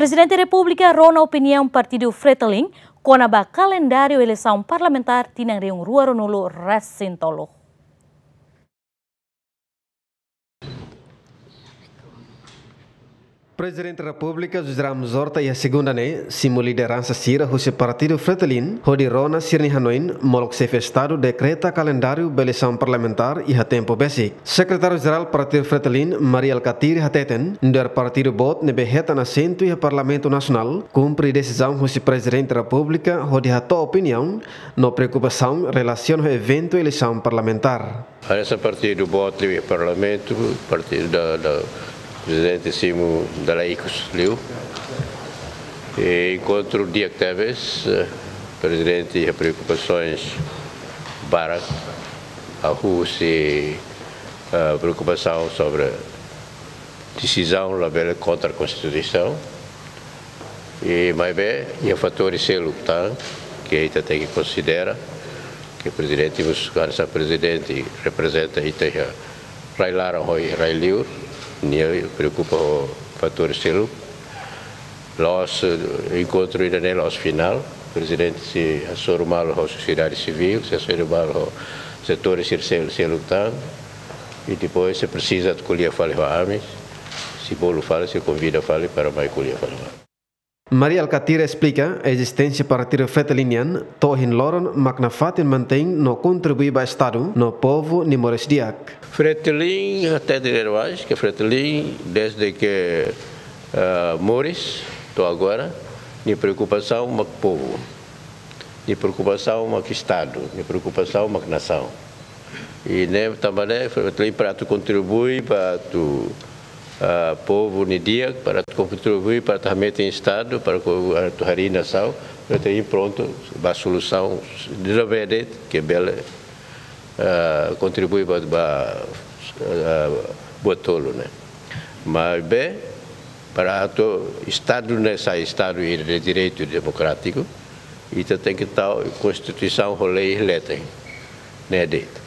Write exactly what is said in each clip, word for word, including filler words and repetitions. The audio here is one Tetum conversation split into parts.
Prezidente Repúblika rona opiniaun Partidu Fretilin kona-ba kalendáriu eleisaun parlamentár tinan rihun rua ruanulu resin tolu. Prezidente Repúblika José Ramos Horta iha segunda ne'e simu lideransa sira husi Partidu Fretilin hodi rona sira-nia hanoin molok Xefe Estadu dekreta kalendáriu ba eleisaun parlamentár iha tempu besik. Sekretáriu Jerál Partidu Fretilin, Mari Alkatiri hateten, nu'udar partidu boot ne'ebé hetan asentu iha Parlamentu Nasionál, kumpre desizaun husi Prezidente Repúblika hodi hato'o opiniaun no preokupasaun relasiona ho eventu eleisaun parlamentár. Hanesan partidu boot liu iha Parlamentu, partidu da, da Prezidente simu dala ikus liu. I enkontru di'ak tebes, eh, Prezidente iha preokupasaun barak, hahú husi, eh, preokupasaun sobre desizaun labele kontra Konstituisaun. I maibé iha fatór seluk tan ke ita tenke konsidera, ke Prezidente mós hanesan Prezidente reprezenta ita iha rai-laran ho rai-liur, nia preokupa ho fatór seluk. La'ós, eh, enkontru ida-ne'e la'ós finál. Prezidente sei hasoru malu ho sosiedade sivíl, sei hasoru malu ho setór sira sel-, seluk tan. I depois, se presiza atu ko'alia fali ho ami, sei bolu fali, sei konvida fali para mai ko'alia fali ho ami. Mari Alkatiri esplika ezisténsia Partidu Fretilin nian to'o ohin loron mak nafatin mantein no kontribui ba Estadu no povu nia moris di'ak. Fretilin, até dizer mais, ke Fretilin, desde ke, ah, moris to'o agora, nia preokupasaun mak povu, nia preokupasaun mak Estadu, nia preokupasaun mak nasaun. I ne'e tanba ne'e, Fretilin para atu kontribui ba atu, ah, povu nia di'ak, para atu kontribui para atu hametin Estadu, para atu harii nasaun, Fretilin prontu ba solusaun ida ne'ebé de'it ke bele, ah, kontribui ba, ba, ah, buat tolu ne'e. Maibé, para atu Estadu ne'e sai Estadu ida de direitu demokrátiku, ita tenke tau Konstituisaun ho lei leten, ne'e de'it.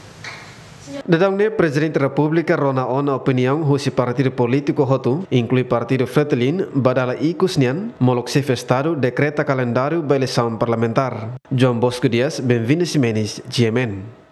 Daudaun ne'e Prezidente Repúblika rona ona opiniaun husi partidu polítiku hotu, inklui Partidu Fretilin, ba dala ikus nian, molok Xefe Estadu dekreta kalendáriu ba eleisaun parlamentár. João Bosco Dias, Benvinda Ximenes, G M N.